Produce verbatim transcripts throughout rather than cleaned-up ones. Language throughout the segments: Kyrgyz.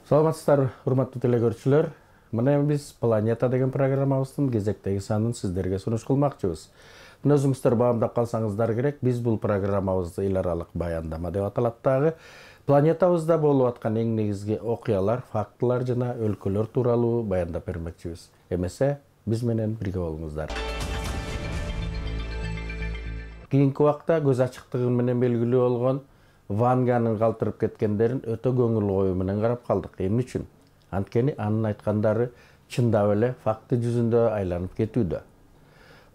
Саламатсыздар, урматтуу телекөрүүчүлөр. Мына биз Планета деген программабыздын кезектеги санын сиздерге сунуш кылмакчыбыз. Мына өзүңүздөр баамдап калсаңыздар керек, биз бул программабызды эл аралык баяндама деп аталат дагы. Планетабызда болуп аткан эң негизги окуялар, фактылар жана өлкөлөр тууралуу баяндап бермекчибиз. Эмесе, биз менен бирге болуңуздар. Кийинки убакта көз ачыктыгы менен белгилүү болгон Ванганын калтырып кеткендерин өтө көңүл коюу менен карап калдык. Эмне үчүн? Анткени анын айткандары чындап эле факты жүзүндө айланып кетүүдө.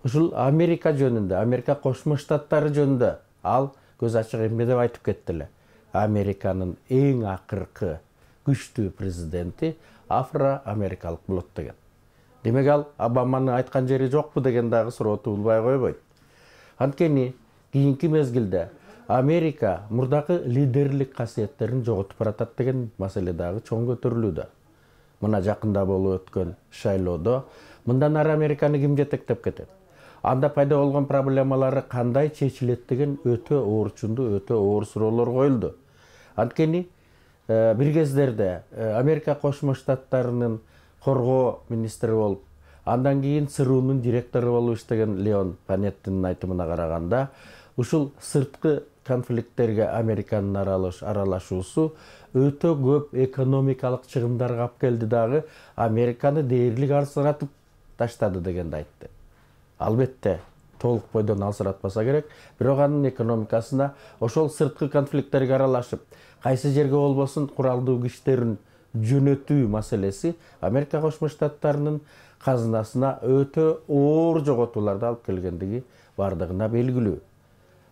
Ушул Америка жөнүндө, Америка Кошмо Штаттары жөнүндө ал көз ачык эмне деп айтып кетти эле. Американын эң акыркы күчтүү президенти афро-америкалык болот деген. Демек ал Обаманын айткан жери жокпу деген дагы суроо туулбай койбойт. Анткени кийинки мезгилде Америка мурдакы лидерлик касиеттерин жоготуп баратат деген маселе дагы чоң көтөрүлүүдө. Мына жакында болуп өткөн шайлоодо мындан ары Американы ким жетектеп кетет? Анда пайда болгон проблемалары кандай чечилет деген өтө оорчундуу, өтө оор суроолор коюлду. Анткени бир кездерде Америка Кошмо Штаттарынын коргоо министри болуп, андан кийин ЦРУнун директору болуп иштеген Леон Панеттинин айтымына караганда, ушул сырткы конфликттерге Американын аралашуусу өтө көп экономикалык чыгымдарга алып келди дагы, Американы дээрлик алсыратып таштады дегенди айтты. Албетте, толук бойдон алсыратпаса керек, бирок анын экономикасына ошол сырткы конфликттерге аралашып, кайсы жерге болбосун куралдуу күчтерин жөнөтүү маселеси Америка Кошмо Штаттарынын казынасына өтө оор жоготууларды алып келгендиги бардыгына белгилүү.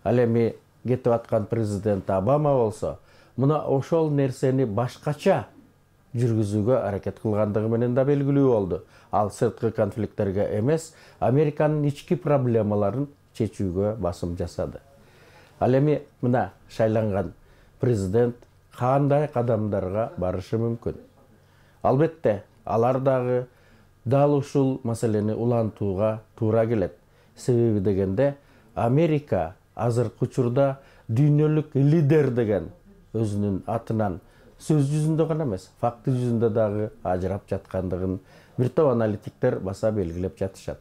Ал эми кетип аткан президент Обама болсо, мына ошол нерсени башкача жүргүзүүгө аракет кылгандыгы менен да белгилүү болду. Ал сырткы конфликттерге эмес, Американын ички проблемаларын чечүүгө басым жасады. Ал эми мына шайланган президент кандай кадамдарга барышы мүмкүн? Албетте, алар дагы дал ушул маселени улантууга туура келет. Себеби дегенде, Америка азыркы учурда дүйнөлүк лидер деген өзүнүн атынан сөз жүзүндө гана эмес, факты жүзүндө дагы ажырап жаткандыгын бир топ аналитиктер баса белгилеп жатышат.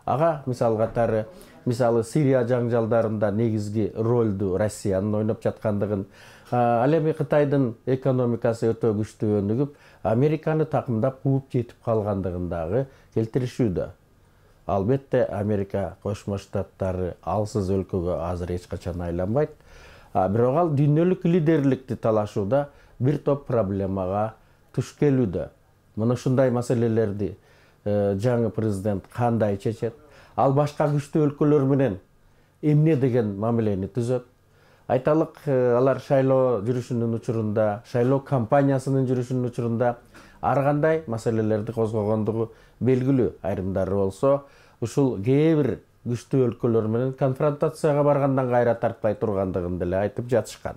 Ага мисал катары, мисалы Сирия жаңжалдарында негизги ролду Россиянын ойноп жаткандыгын, ал эми Кытайдын экономикасы өтө күчтүү өнүгүп, Американы такымдап кууп жетип калгандыгын дагы келтиришүүдө. Албетте, Америка Кошмо Штаттары алсыз өлкөгө азыр эч качан айланбайт, бирок ал дүйнөлүк лидерликти талашууда бир топ проблемага туш келүүдө. Мына ушундай маселелерди жаңы президент кандай чечет? Ал башка күчтүү өлкөлөр менен эмне деген мамилени түзөт? Айталык, алар шайлоо жүрүшүнүн учурунда, шайлоо кампаниясынын жүрүшүнүн учурунда ар кандай маселелерди козгогондугу белгилүү. Айрымдары болсо, ушул кээ бир күчтүү өлкөлөр менен конфронтацияга баргандан кайра тартпай тургандыгын деле айтып жатышкан.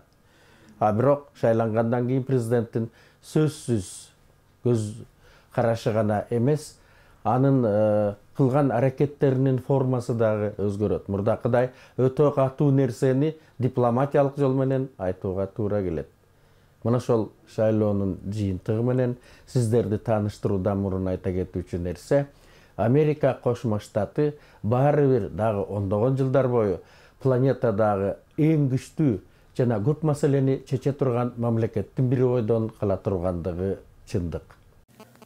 А бирок шайлангандан кийин президенттин сөзсүз көз карашы гана эмес, анын кылган аракеттеринин формасы дагы өзгөрөт. Мурдакыдай өтө катуу нерсени дипломатиялык жол менен айтууга туура келет. Мына ошол шайлоонун жыйынтыгы менен сиздерди тааныштыруудан мурун айта кетүүчү нерсе, Америка Кошмо Штаты баары бир дагы ондогон жылдар бою планетадагы эң күчтүү жана көп маселени чече турган мамлекеттин бири бойдон кала тургандыгы чындык.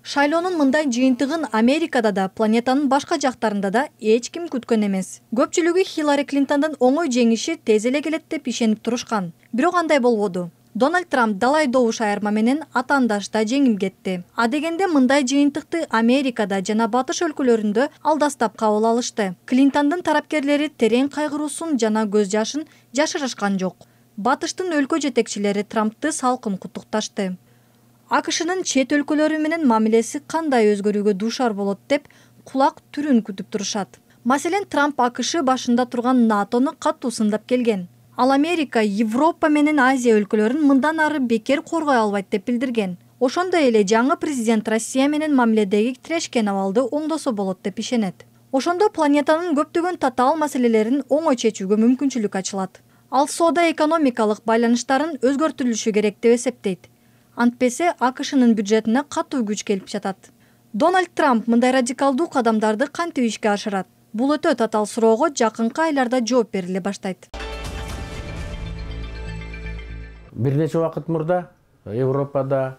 Шайлоонун мындай жыйынтыгын Америкада да, планетанын башка жактарында да эч ким күткөн эмес. Көпчүлүгү Хиллари Клинтондун оңой жеңиши тез эле келет деп ишенип турушкан. Бирок андай болбоду. Дональд Трамп далай добуш айырма менен атаандашта жеңип кетти. А дегенде мындай жыйынтыкты Америкада жана батыш өлкөлөрүндө алдастап кабыл алышты. Клинтондун тарапкерлери терең кайгыруусун жана көз жашын жашырышкан жок. Батыштын өлкө жетекчилери Трампты салкын куттукташты. АКШнын чет өлкөлөрү менен мамилеси кандай өзгөрүүгө дуушар болот деп кулак түрүн күтүп турушат. Маселен, Трамп АКШ башында турган НАТОну катуу сындап келген. Ал Америка, Европа менен Азия өлкөлөрүн мындан ары бекер коргой албайт деп билдирген. Ошондой эле жаңы президент Россия менен мамиледеги тирешкен абалды оңдосо болот деп ишенет. Ошондо планетанын көптөгөн татаал маселелерин оңой чечүүгө мүмкүнчүлүк ачылат. Ал соода экономикалык байланыштарын өзгөртүлүшү керек деп эсептейт. Антпесе АКШнын бюджетине катуу күч келип жатат. Дональд Трамп мындай радикалдуу кадамдарды кантип ишке ашырат? Бул өтө татаал суроого жакынкы айларда жооп бериле баштайт. Бир нече убакыт мурда Европада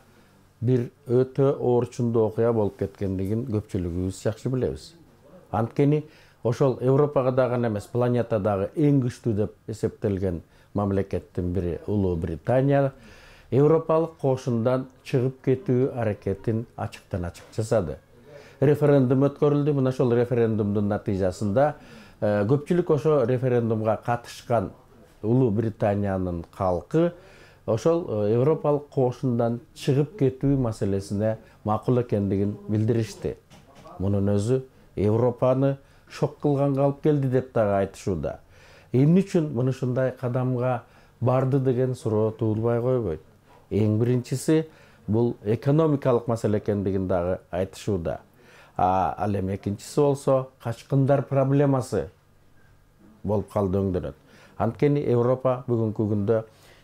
бир өтө оорчундуу окуя болуп кеткендигин көпчүлүгүбүз жакшы билебиз. Анткени ошол Европага дагы эмес, планетадагы эң күчтүү деп эсептелген мамлекеттин бири Улуу Британия Европалык кошундан чыгып кетүү аракетин ачыктан ачык жасады. Референдум өткөрүлдү. Мына ошол референдумдун натыйжасында көпчүлүк ошо референдумга катышкан Улуу Британиянын калкы ошол Европалык кошундан чыгып кетүү маселесине макул экендигин билдиришти. Мунун өзү Европаны шок кылганга алып келди деп дагы айтышууда. Эмне үчүн мынушундай кадамга барды деген суроо туулбай койбойт. Эң биринчиси бул экономикалык маселе экендигин дагы айтышууда. А ал эми экинчиси болсо качкындар проблемасы болуп калды өңдөнөт. Анткени Европа бүгүнкү күндө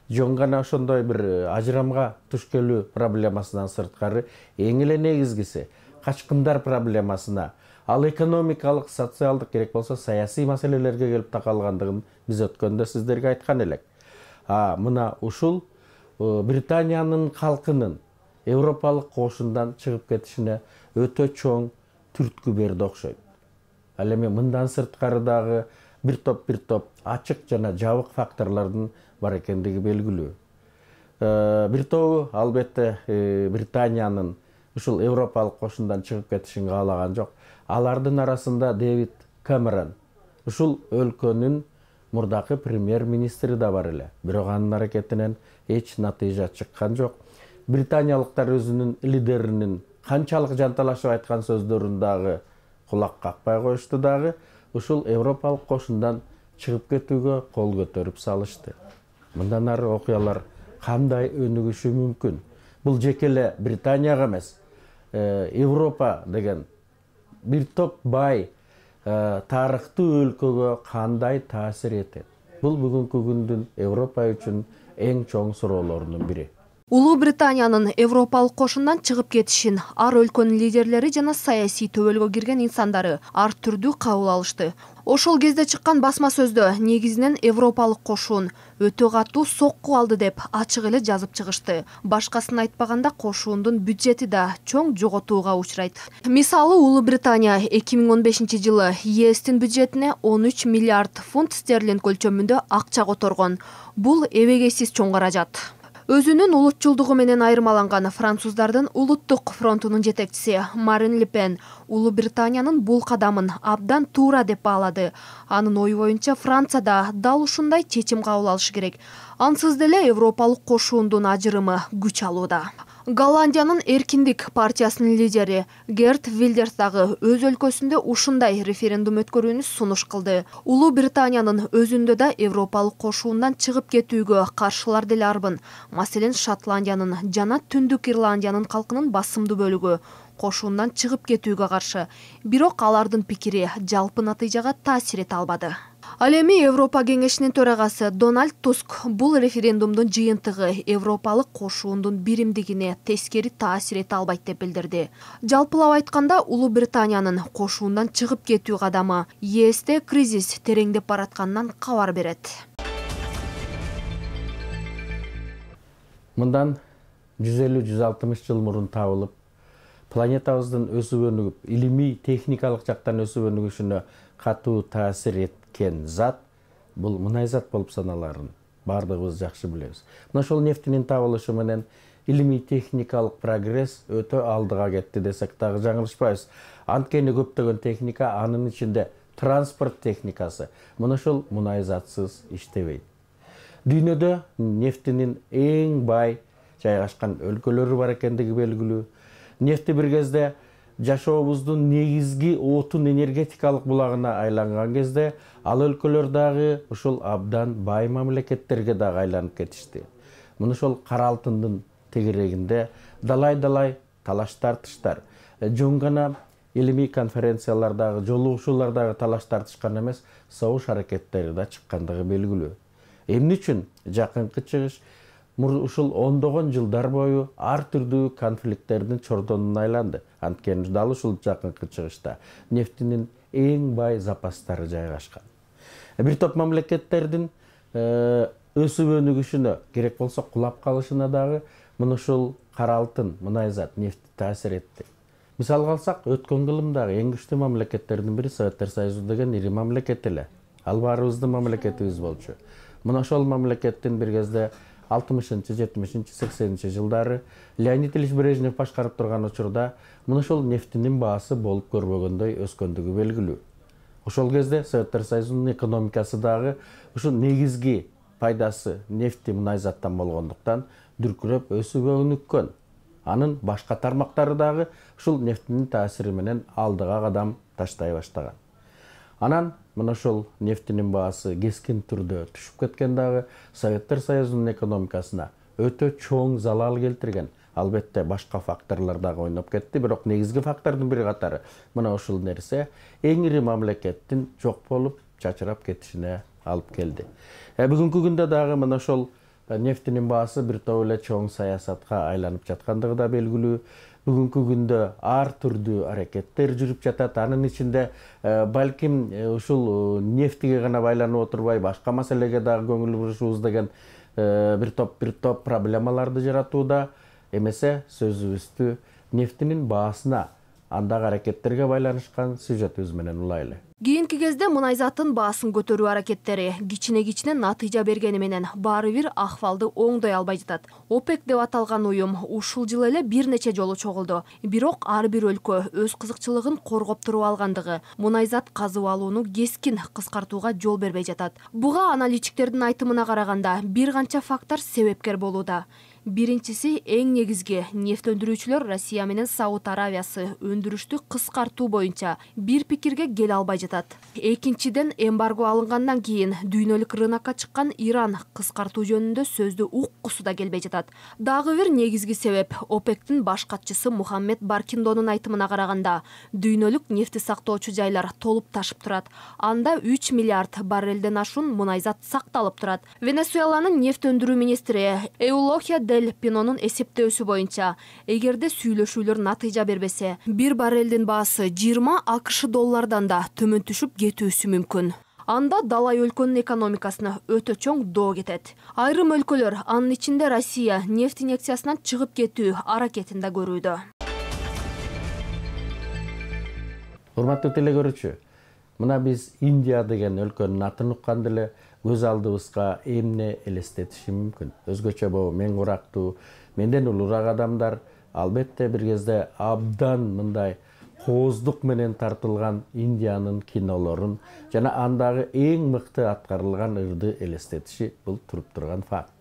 жөн гана ошондой бир ажырамга туш келүү проблемасынан сырткары эң эле негизгиси качкындар проблемасына, ал экономикалык, социалдык, керек болсо саясий маселелерге келип такалгандыгын биз өткөндө сиздерге айткан элек. А мына ушул Британиянын калкынын Европалык кошундан чыгып кетишине өтө чоң түрткү берди окшойт. Ал эми мындан сырткары дагы бир топ бир топ ачык жана жабык факторлордун бар экендиги белгилүү. Бир тобу албетте Британиянын ушул Европалык кошундан чыгып кетишин каалаган жок. Алардын арасында Дэвид Кэмерон, ушул өлкөнүн мурдакы премьер-министри да бар эле. Бирок анын аракетинен эч натыйжа чыккан жок. Британиялыктар өзүнүн лидеринин канчалык жанталашып айткан сөздөрүн дагы кулак какпай коюшту дагы, ушул Европалык кошундан чыгып кетүүгө кол көтөрүп салышты. Мындан ары окуялар кандай өнүгүшү мүмкүн? Бул жеке эле Британияга эмес, Европа деген бир топ бай тарыхтуу өлкөгө кандай таасир этет? Бул бүгүнкү күндүн Европа үчүн эң чоң суроолордун бири. Улуу Британиянын Европалык кошундан чыгып кетишин ар өлкөнүн лидерлери жана саясий төбөлгө кирген инсандары ар түрдүү кабыл алышты. Ошол кезде чыккан басма сөздө негизинен Европалык кошун өтө катуу сокку алды деп ачык эле жазып чыгышты. Башкасын айтпаганда кошуундун бюджети да чоң жоготууга учурайт. Мисалы, Улуу Британия эки миң он бешинчи жылы ЕСтин бюджетине он үч миллиард фунт стерлинг көлчөмүндө акча которгон. Бул эбегейсиз чоң каражат. Өзүнүн улутчулдугу менен айырмаланган француздардын улуттук фронтунун жетекчиси Марин Ле Пен Улуу Британиянын бул кадамын абдан туура деп баалады. Анын ою боюнча Францияда дал ушундай чечим кабыл алышы керек. Ансыз деле Европалык кошуундун ажырымы күч алууда. Голландиянын Эркиндик партиясынын лидери Герт Вилдерс дагы өз өлкөсүндө ушундай референдум өткөрүүнү сунуш кылды. Улуу Британиянын өзүндө да Европалык кошуундан чыгып кетүүгө каршылар деле арбын. Маселен, Шотландиянын жана Түндүк Ирландиянын калкынын басымдуу бөлүгү кошуундан чыгып кетүүгө каршы. Бирок алардын пикири жалпы натыйжага таасир эте албады. Ал эми Европа кеңешинин төрагасы Дональд Туск бул референдумдун жыйынтыгы Европалык кошуундун биримдигине тескери таасир эте албайт деп билдирди. Жалпылап айтканда, Улуу Британиянын кошуундан чыгып кетүү кадамы ЕСте кризис тереңдеп баратканынан кабар берет. Мындан жүз элүү жүз алтымыш жыл мурун табылып, планетабыздын өсүп өнүгүп, илимий техникалык жактан өсүп өнүгүшүнө катуу таасир эткен зат бул мунай зат болуп саналарын бардыгыбыз жакшы билебиз. Мына ошол нефтинин табылышы менен илимий техникалык прогресс өтө алдыга кетти десек дагы жаңылышпайбыз. Анткени көптөгөн техника, анын ичинде транспорт техникасы, мына ошол мунай затсыз иштебейт. Дүйнөдө нефтинин эң бай жайгашкан өлкөлөрү бар экендиги белгилүү. Нефти бир кезде жашообуздун негизги отун энергетикалык булагына айланган кезде, ал өлкөлөр дагы ушул абдан бай мамлекеттерге дагы айланып кетишти. Мына ошол кара алтындын тегерегинде далай-далай талаш тартыштар, жөн гана илимий конференциялардагы, жолугушуулардагы талаш тартышкан эмес, согуш аракеттери да чыккандыгы белгилүү. Эмне үчүн жакынкы чыгыш ушул ондогон жылдар бою ар түрдүү конфликттердин чордонуна айланды. Анткени дал ушул жакынкы чыгышта нефтинин эң бай запастары жайгашкан. Бир топ мамлекеттердин өсүп өнүгүшүнө, керек болсо кулап калышына дагы мына ушул кара алтын, мунайзат, нефт таасир этти. Мисалга алсак, өткөн кылымдагы эң күчтүү мамлекеттердин бири Советтер Союзу деген ири мамлекет эле. Ал баарыбыздын мамлекетибиз болчу. Мына ошол мамлекеттин бир кезде алтымышынчы, жетимишинчи, сексенинчи жылдары Леонид Ильич Брежнев башкарып турган учурда мына ошол нефтинин баасы болуп көрбөгөндөй өскөндүгү белгилүү. Ошол кезде Советтер Союзунун экономикасы дагы ушул негизги пайдасы нефти, мунайзаттан болгондуктан дүркүрөп өсүп өнүккөн. Анын башка тармактары дагы ушул нефтинин таасири менен алдыга кадам таштай баштаган. Анан мына ошол нефтинин баасы кескин түрдө түшүп кеткен дагы Советтер Союзунун экономикасына өтө чоң залал келтирген. Албетте башка факторлор дагы ойноп кетти, бирок негизги фактордун бири катары мына ушул нерсе эң ири мамлекеттин жок болуп, чачырап кетишине алып келди. Бүгүнкү күндө дагы мына ошол нефтинин баасы бир топ эле чоң саясатка айланып жаткандыгы да белгилүү. Бүгүнкү күндө ар түрдүү аракеттер жүрүп жатат. Анын ичинде балким ушул нефтиге гана байланып отурбай, башка маселеге дагы көңүл бурушубуз деген бир топ бир топ проблемаларды жаратууда. Эмесе сөзүбүздү нефтинин баасына, андагы аракеттерге байланышкан сюжетибиз менен улайлы. Кийинки кезде мунайзаттын баасын көтөрүү аракеттери кичине-кичине натыйжа бергени менен баары бир акыбалды оңдой албай жатат. ОПЕК деп аталган уюм ушул жылы эле бир нече жолу чогулду. Бирок ар бир өлкө өз кызыкчылыгын коргоп туруп алгандыгы мунайзат казып алууну кескин кыскартууга жол бербей жатат. Буга аналитиктердин айтымына караганда бир канча фактор себепкер болууда. Биринчиси эң негизги нефть өндүрүүчүлөр Россия менен Сауд Аравиясы өндүрүштү кыскартуу боюнча бир пикирге келе албай жатат. Экинчиден, эмбарго алынгандан кийин дүйнөлүк рынокко чыккан Иран кыскартуу жөнүндө сөздү уккусу да келбей жатат. Дагы бир негизги себеп ОПЕКтин баш катчысы Мухаммед Баркиндонун айтымына караганда дүйнөлүк нефти сактоочу жайлар толуп ташып турат. Анда үч миллиард баррелден ашуун мунайзат сакталып турат. Венесуэланын нефть өндүрүү министри Эулохия Дель Пинонун эсептөөсү боюнча, эгерде сүйлөшүүлөр натыйжа бербесе, бир баррелдин баасы жыйырма АКШ доллардан да төмөн түшүп кетүүсү мүмкүн. Анда далай өлкөнүн экономикасына өтө чоң доо кетет. Айрым өлкөлөр, анын ичинде Россия, нефть инъекциясынан чыгып кетүү аракетин да көрүүдө. Урматтуу телекөрүүчү, мына биз Индия деген өлкөнүн атын укканда эле көз алдыбызга эмне элестетиши мүмкүн. Өзгөчө бул мен курактуу, менден улуураак адамдар албетте бир кезде абдан мындай кооздук менен тартылган Индиянын кинолорун жана андагы эң мыкты аткарылган ырды элестетиши бул туруп турган факт.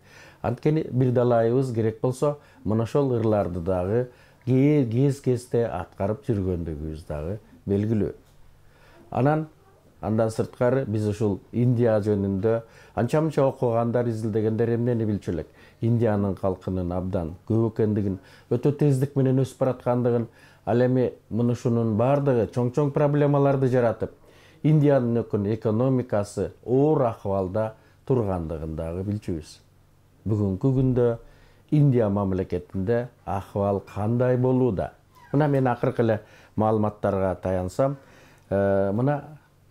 Анткени бир далайыбыз керек болсо, мына ошол ырларды дагы кез-кезде аткарып жүргөндүгүбүз дагы белгилүү. Анан Андан сырткары биз ушул Индия жөнүндө анча-мынча окугандар, изилдегендер эмнени билчү элек? Индиянын калкынын абдан көп экендигин, өтө тездик менен өсүп бараткандыгын, ал эми мына ушунун бардыгы чоң-чоң проблемаларды жаратып, Индиянын экономикасы оор акыбалда тургандыгын дагы билчүбүз. Бүгүнкү күндө Индия мамлекетинде акыбал кандай болууда? Мына мен акыркы эле маалыматтарга таянсам, мына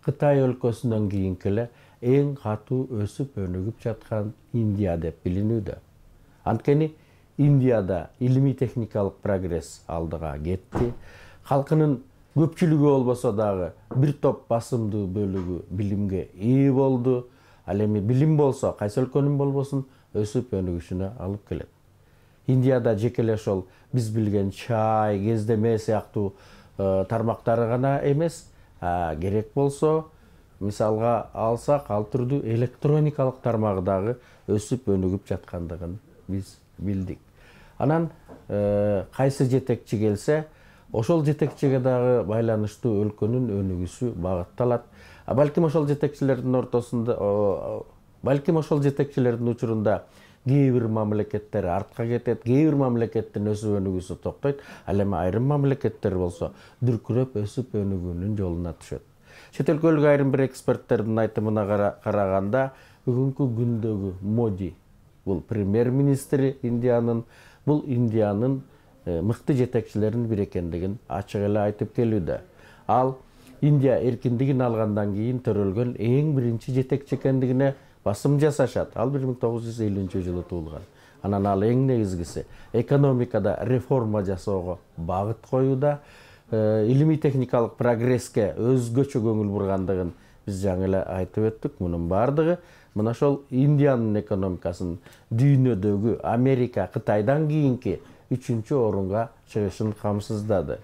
Кытай өлкөсүнөн кийинки эле эң катуу өсүп өнүгүп жаткан Индия деп билинүүдө. Анткени Индияда илимий техникалык прогресс алдыга кетти. Калкынын көпчүлүгү болбосо дагы бир топ басымдуу бөлүгү билимге ээ болду. Ал эми билим болсо, кайсы өлкөнүн болбосун өсүп өнүгүшүнө алып келет. Индияда жеке эле ошол биз билген чай, кездеме сыяктуу тармактары гана эмес, керек болсо, мисалга алсак, ал түрдүү электроникалык тармагы дагы өсүп өнүгүп жаткандыгын биз билдик. Анан кайсы жетекчи келсе, ошол жетекчиге дагы байланыштуу өлкөнүн өнүгүшү багытталат. Балким ошол жетекчилердин ортосунда, балким ошол жетекчилердин учурунда кээ бир мамлекеттер артка кетет, кээ бир мамлекеттин өсүп өнүгүүсү токтойт, ал эми айрым мамлекеттер болсо дүркүрөп өсүп өнүгүүнүн жолуна түшөт. Чет өлкөлүк айрым бир эксперттердин айтымына караганда, бүгүнкү күндөгү Моди бул премьер-министри Индиянын, бул Индиянын мыкты жетекчилеринин бири экендигин ачык эле айтып келүүдө. Ал Индия эркиндигин алгандан кийин төрөлгөн эң биринчи жетекчи экендигине басым жасашат. Ал бир миң тогуз жүз элүүнчү жылы туулган. Анан ал эң негизгиси экономикада реформа жасоого багыт коюуда, илимий техникалык прогресске өзгөчө көңүл бургандыгын биз жаңы эле айтып өттүк. Мунун бардыгы мына ошол Индиянын экономикасын дүйнөдөгү Америка, Кытайдан кийинки үчүнчү орунга чыгышын камсыздады.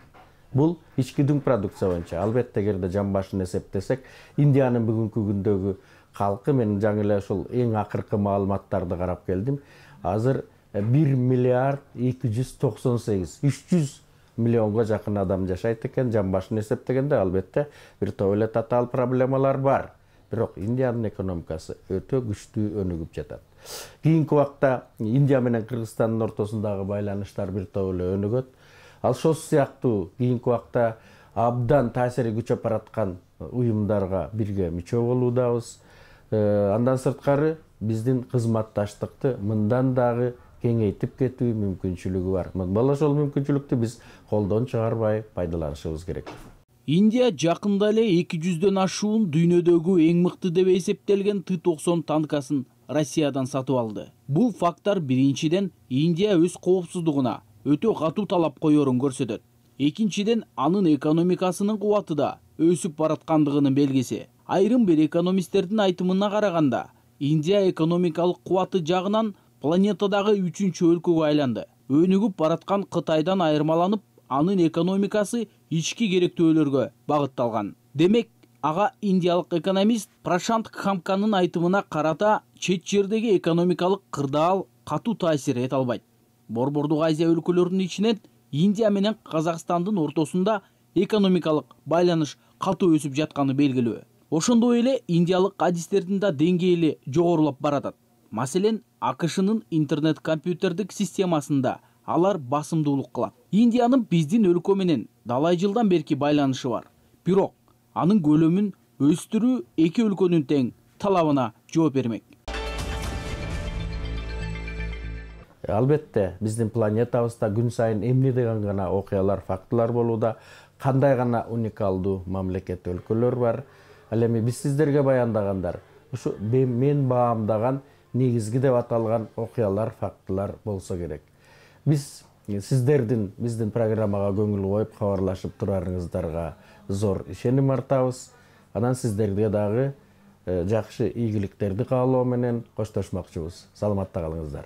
Бул ички дүң продукция боюнча. Албетте, эгерде жан башын эсептесек, Индиянын бүгүнкү күндөгү калкы, мен жаңы эле ошол эң акыркы маалыматтарды карап келдим. Азыр бир миллиард эки жүз токсон сегиз, үч жүз миллионго жакын адам жашайт экен. Жан башын эсептегенде албетте бир топ эле татаал проблемалар бар. Бирок Индиянын экономикасы өтө күчтүү өнүгүп жатат. Кийинки убакта Индия менен Кыргызстандын ортосундагы байланыштар бир топ эле өнүгөт. Ал ошол сыяктуу кийинки убакта абдан таасири күчөп бараткан уюмдарга бирге мүчө болуудабыз. Андан сырткары биздин кызматташтыкты мындан дагы кеңейтип кетүү мүмкүнчүлүгү бар. Мына ошол мүмкүнчүлүктү биз колдон чыгарбай пайдаланышыбыз керек. Индия жакында эле эки жүздөн ашуун дүйнөдөгү эң мыкты деп эсептелген Т токсон танкасын Россиядан сатып алды. Бул факттар биринчиден Индия өз коопсуздугуна өтө катуу талап коерун көрсөтөт. Экинчиден, анын экономикасынын кубаты да өсүп бараткандыгынын белгиси. Айрым бир экономисттердин айтымына караганда, Индия экономикалык кубаты жагынан планетадагы үчүнчү өлкөгө айланды. Өнүгүп бараткан Кытайдан айырмаланып, анын экономикасы ички керектөөлөргө багытталган. Демек, ага индиялык экономист Прашант Кхамканын айтымына карата чет жердеги экономикалык кырдаал катуу таасир эте албайт. Борбордук Азия өлкөлөрүнүн ичинен Индия менен Казакстандын ортосунда экономикалык байланыш катуу өсүп жатканы белгилүү. Ошондой эле индиялык адистердин да деңгээли жогорулап баратат. Маселен, АКШнын интернет-компьютердик системасында алар басымдуулук кылат. Индиянын биздин өлкө менен далай жылдан берки байланышы бар. Бирок анын көлөмүн өстүрүү эки өлкөнүн тең талабына жооп бермек. Албетте, биздин планетабызда күн сайын эмне деген гана окуялар, фактылар болууда, кандай гана уникалдуу мамлекет, өлкөлөр бар. Ал эми биз сиздерге баяндагандар ушу мен баамдаган негизги деп аталган окуялар, фактылар болсо керек. Биз сиздердин биздин программага көңүл коюп кабарлашып турарыңыздарга зор ишеним артабыз. Анан сиздерге дагы жакшы ийгиликтерди каалоо менен коштошмокчубуз. Саламатта калыңыздар.